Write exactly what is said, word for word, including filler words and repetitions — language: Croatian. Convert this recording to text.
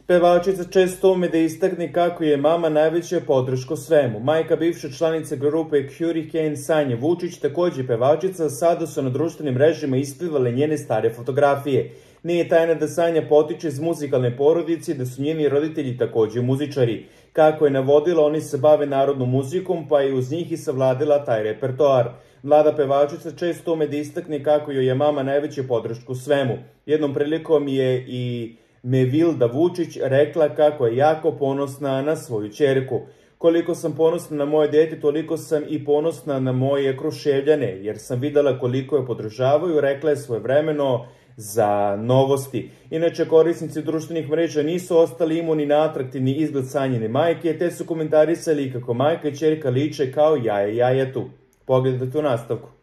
Pevačica često ume da istakne kako je mama najveća podrška svemu. Majka bivše članice grupe Hurricane Sanja Vučić, takođe pevačica, sada su na društvenim mrežama isplivale njene stare fotografije. Nije tajna da Sanja potiče iz muzikalne porodice i da su njeni roditelji takođe muzičari. Kako je navodila, oni se bave narodnom muzikom, pa je uz njih i savladila taj repertoar. Mlada pevačica često ume da istakne kako joj je mama najveća podrška u svemu. Jednom prilikom je i Mevilda Vučić rekla kako je jako ponosna na svoju ćerku. Koliko sam ponosna na moje dete, toliko sam i ponosna na moje Kruševljane, jer sam videla koliko je podržavaju, rekla je svojevremeno za Novosti. Inače, korisnici društvenih mreža nisu ostali imuni na atraktivni izgled Sanjine majke, te su komentarisali kako majka i ćerka liče kao jaje jajetu. Pogledajte u nastavku.